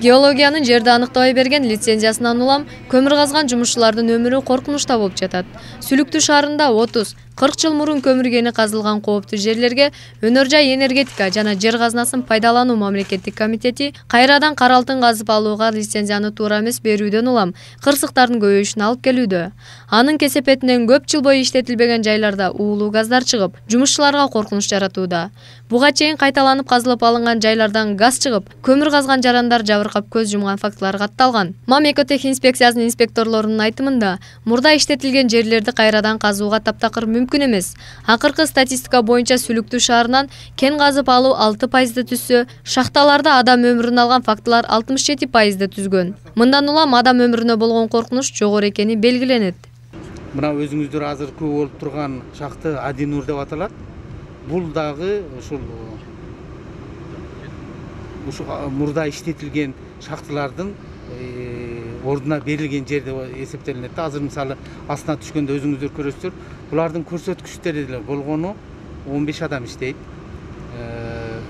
Геологиянын жерди аныктабай берген лицензиясынан улам көмүр казган жумушчулардын өмүрү коркунучта болуп жатат. Сүлүктүү шаарында 30-40 жыл мурун көмүр кени казылган кооптуу жерлерге Өнөр жай энергетика жана жер казынасын пайдалануу мамлекеттик комитети кайрадан кара алтын казып алууга лицензияны туура эмес берүүдөн улам кырсыктардын көбөйүшүнө алып келүүдө. Анын кесепетинен көп жыл бою иштетилбеген жайларда уулуу газдар чыгып, жумушчуларга коркунуч жаратууда. Буга чейин кайталанып казылып алынган жайлардан газ чыгып, көмүр казган жарандар жабыркап көз жумган фактылар катталган. Мамлекеттик инспекциясынын инспекторлорунун айтымында, мурда иштетилген жерлерди кайрадан казууга таптакыр мүмкүн эмес. Акыркы статистика боюнча Сүлүктүү шаарынан кен казып алуу 6% түзсө, шахталарда адам өмүрүн алган фактылар 67% түзгөн. Мындан улам адам өмүрүнө болгон коркунуч жогору экени белгиленет. Мына өзүңүздөр азыр көп болуп турган шахта Адинур деп аталат. Бул дагы ушул мурда иштетилген шахталардын ордуна берилген жер деп эсептелинет. Азыр мисалы астына түшкөндө өзүңүздөр көрөсүздөр, булардын көрсөткүчтөрү деле болгону 15 адам иштейт.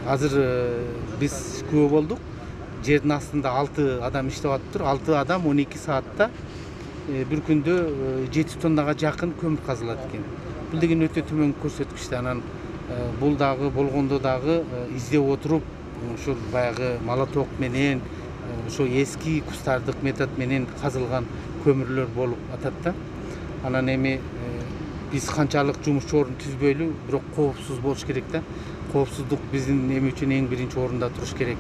Азыр биз күбө болдук. Жердин астында 6 адам иштеп атыптыр. 6 адам 12 саатта бир күндө 7 тоннага жакын көмүр казылат экен. Бул деген өтө төмөн көрсөткүч. Анан бул дагы болгондо дагы издеп отуруп, ушул баягы молоток менен, ошо эски кустардык метод менен казылган көмүрлөр болуп атат да. Анан эми биз канчалык жумушчу орун түзбөйлү, бирок коопсуз болуш керек да. Коопсуздук биздин эми үчүн эң биринчи орунда туруш керек.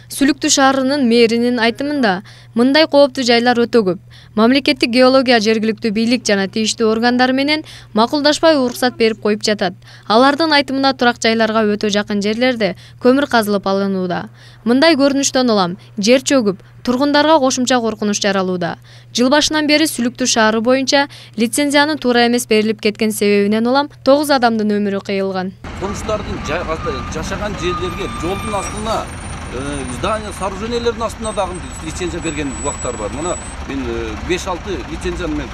Сүлүктүү шаарынын мэринин айтымында, мындай кооптуу жайлар өтө көп. Мамлекеттик геология жергиликтүү бийлик жана тийиштүү органдар менен макулдашпай уруксат берип коюп жатат. Алардын айтымында турак жайларга өтө жакын жерлерде көмүр казылып алынууда. Мындай көрүнүштөн улам жер чөгүп, тургундарга кошумча коркунуч жаралууда. Жыл башынан бери Сүлүктүү шаары боюнча лицензиянын туура эмес берилип кеткен себебинен улам 9 адамдын өмүрү кыйылган. Конуштардын жашаган жерлерге жолдун астына здание сооружениялердин астына дагы лицензия берген убактар бар. Мына мен 5-6 лицензияны мен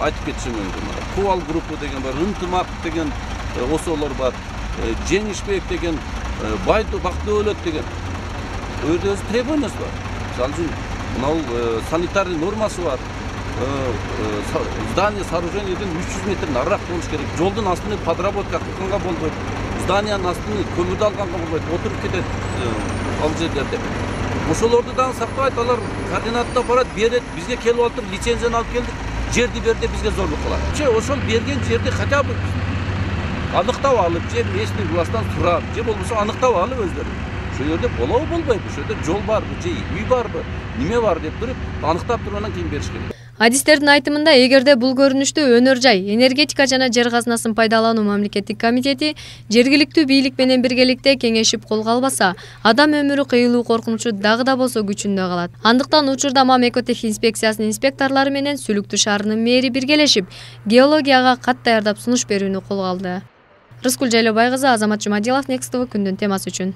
айтып кетишим мүмкүн. Кубал группа деген бар, Ынтымак деген осолор бар, Жеңишбек деген, Бактөөлөт деген. Өзү требованиясы бар. Мисалы үчүн мына санитарный нормасы бар. Здание сооруженияден 300 метр нарыраак болуш керек. Жолдун астына подработка кылганга болбойт. Зданиянын астына көмүрдү алганга болбойт. Отуруп кетет ал жерлерде. Ошолорду дагы сактабайт, алар координаттап барат, берет, бизге келип алып, лицензияны алып келдик, жерди берди, бизге зорлук кылат. Ошол берген жерди хотя бы аныктап алып, же местный власттан сурап, же болбосо аныктап алып өздөрү. Ошол жерде болобу болбойбу, ошол жерде жол барбы, же үй барбы, неме бар деп туруп, аныктап тургандан кийин бериш керек. Адистердин айтымында, эгерде бул көрүнүштү Өнөр жай энергетика жана жер казынасын пайдалануу мамлекеттик комитети жергиликтүү бийлик менен биргеликте кеңешип колго албаса, адам өмүрү кыйылуу коркунучу дагы да болсо күчүндө калат. Андыктан учурда мамлекеттик инспекциясынын инспекторлору менен Сүлүктүү шаарынын мэри биргелешип, геологияга кат даярдап сунуш берүүнү колго алды. Рыскүл Жайлообай кызы, Азамат Жумадилов, Next TV күндүн темасы үчүн.